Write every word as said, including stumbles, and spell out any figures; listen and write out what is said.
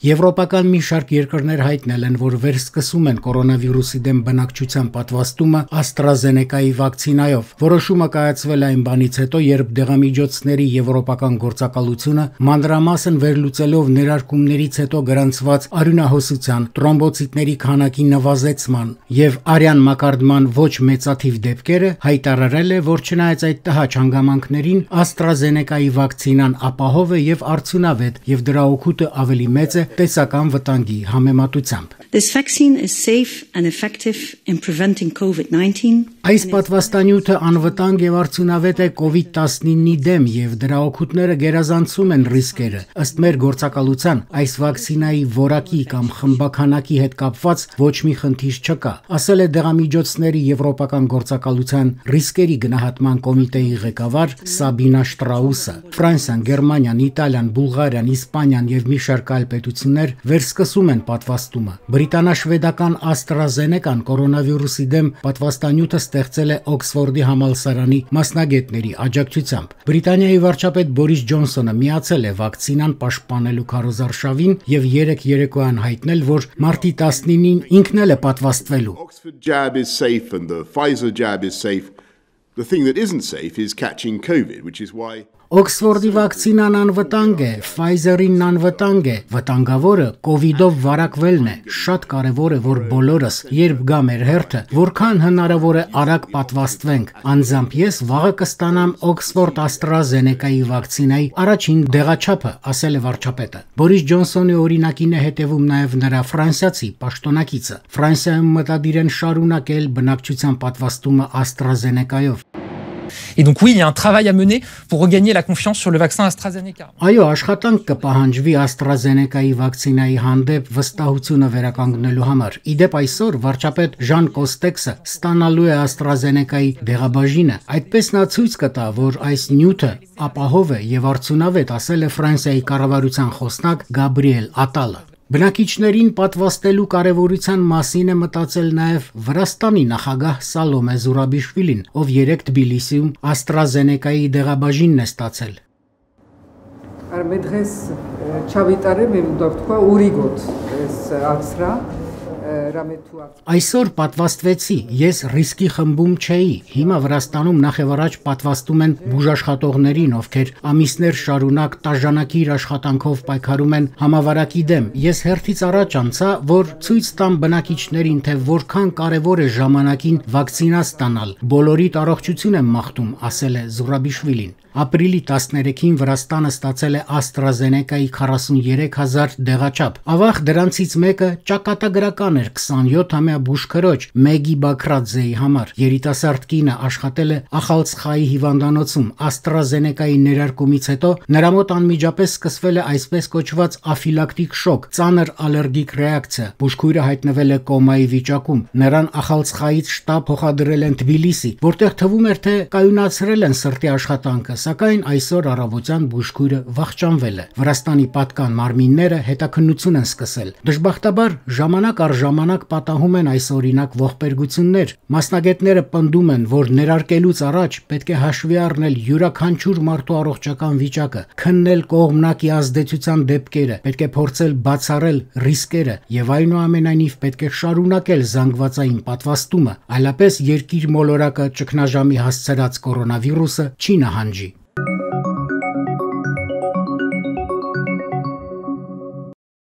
Եվրոպական մի շարք երկրներ հայտնել են, որ վերսկսում են կորոնավիրուսի դեմ բնակչության պատվաստումը AstraZeneca-ի վակցինայով։ Որոշումը կայացվել է այն բանից հետո, երբ դեղամիջոցների եվրոպական գործակալությունը մանրամասն վերլուծելով ներարկումներից հետո գրանցված արյունահոսության, տրոմբոցիտների քանակի նվազեցման եւ արյան մակարդման ոչ մեծաթիվ դեպքերը հայտարարել է, որ չնայած այդ տհաճ հանգամանքներին AstraZeneca-ի վակցինան ապահով է եւ արդյունավետ եւ դրա օգուտը ավելի մեծ է տեսական վտանգի համեմատությամբ։ This vaccine is safe and effective in preventing COVID nineteen. Այս պատվաստանյութը անվտանգ եւ արդյունավետ է COVID nineteen-ի դեմ եւ դրա օգուտները գերազանցում են ռիսկերը։ Ըստ մեր գործակալության, այս վակցինայի որակի կամ խմբաքանակի հետ կապված ոչ մի խնդիր չկա, ասել է դեղամիջոցների եվրոպական գործակալության ռիսկերի գնահատման կոմիտեի ղեկավար Սաբինա Շտրաուսը։ Ֆրանսիան, Գերմանիան, Իտալիան, Բուլղարիան, Իսպանիան եւ մի շարք այլ պետություններ վերսկսում են պատվաստումը։ Բրիտանա-շվեդական AstraZeneca-ն կորոնավիրուսի դեմ պատվաստանյութը ստեղծել է Օքսֆորդի համալսարանի մասնագետների աջակցությամբ։ Բրիտանիայի վարչապետ Բորիս Ջոնսոնը միացել է վակցինան պաշտպանելու քարոզարշավին եւ երեք երեկոյան հայտնել, որ մարտի տասնինին ինքն էլ է պատվաստվելու։ Oxford jab is safe and the Pfizer jab is safe. The thing that isn't safe is catching COVID, which is why Օքսֆորդի վակցինան անվտանգ է, Pfizer-ին անվտանգ է, վտանգավորը կովիդով վարակվելն է։ Շատ կարևոր է, որ բոլորս, երբ գա մեր հերթը, որքան հնարավոր է արագ պատվաստվենք։ Անձամբ ես վաղը կստանամ Օքսֆորդ AstraZeneca-ի վակցինայի առաջին դեղաչափը, ասել է վարչապետը։ Բորիս Ջոնսոնի օրինակին է հետևում նաև նրա ֆրանսիացի պաշտոնակիցը։ Ֆրանսիայում մտադիր են շարունակել բնակչության պատվաստումը AstraZeneca-ով։ Et donc oui, il y a un travail à mener pour regagner la confiance sur le vaccin AstraZeneca. Այո, աշխատանք կպահանջվի AstraZeneca-ի վակցինայի հանդեպ վստահությունը վերականգնելու համար։ Իդեպ այսօր վարչապետ Ժան Կոստեքսը ստանալու է AstraZeneca-ի դեղաբաժինը։ Այդպես նա ցույց կտա, որ այս նյութը ապահով է եւ արդյունավետ, ասել է Ֆրանսիայի կառավարության խոսնակ Գաբրիել Ատալը։ Բնակիչներին պատվաստելու կարևորության մասին է մտածել նաև Վրաստանի նախագահ Սալոմե Զուրաբիշվիլին, ով երեկ Թբիլիսիում AstraZeneca-ի դեղաբաժինն է ստացել։ Მე დღეს ჩავიტარე, მე მინდა ვთქვა, ორი გод ეს აცრა. Այսօր պատվաստվեցի, ես ռիսկի խմբում չէի։ Հիմա Վրաստանում նախևառաջ պատվաստում են բուժաշխատողներին, ովքեր ամիսներ շարունակ տաժանակիր աշխատանքով պայքարում են համավարակի դեմ։ Ես հերթից առաջ անցա, որ ցույց տամ բնակիչներին, թե որքան կարևոր է ժամանակին վակցինա ստանալ։ Բոլորիդ առողջություն եմ մաղթում, ասել է Զուրաբիշվիլին։ Ապրիլի տասներեքին Վրաստանը ստացել է AstraZeneca-ի քառասուներեք հազար դեղաչափ։ Ավաղ դրանցից մեկը ճակատագրական էր քսանյոթամյա բուժքրոջ Մեգի Բաքրաձեի համար։ Երիտասարդ կինը աշխատել է Ախալցխայի հիվանդանոցում։ AstraZeneca-ի ներարկումից հետո նրա մոտ անմիջապես սկսվել է այսպես կոչված աֆիլակտիկ շոկ, ծանր ալերգիկ ռեակցիա։ Բուժքույրը հայտնվել է կոմայի վիճակում։ Նրան Ախալցխայից շտապ փոխադրել են Թբիլիսի, որտեղ թվում էր, թե կայունացրել են սրտի աշխատանքը, սակայն այսօր առավոտյան բուժքույրը վախճանվել է։ Վրաստանի պատկան մարմինները հետաքննություն են սկսել։ Դժբախտաբար ժամանակ առ ժամանակ պատահում են այս օրինակ ողբերգություններ։ Մասնագետները պնդում են, որ ներարկելուց առաջ պետք է հաշվի առնել յուրաքանչյուր մարդու առողջական վիճակը, քննել կողմնակի ազդեցության դեպքերը, պետք է փորձել բացառել ռիսկերը եւ այնուամենայնիվ պետք է շարունակել զանգվածային պատվաստումը, այլապես երկիր մոլորակը ճգնաժամի հասցրած կորոնավիրուսը չի նահանջի։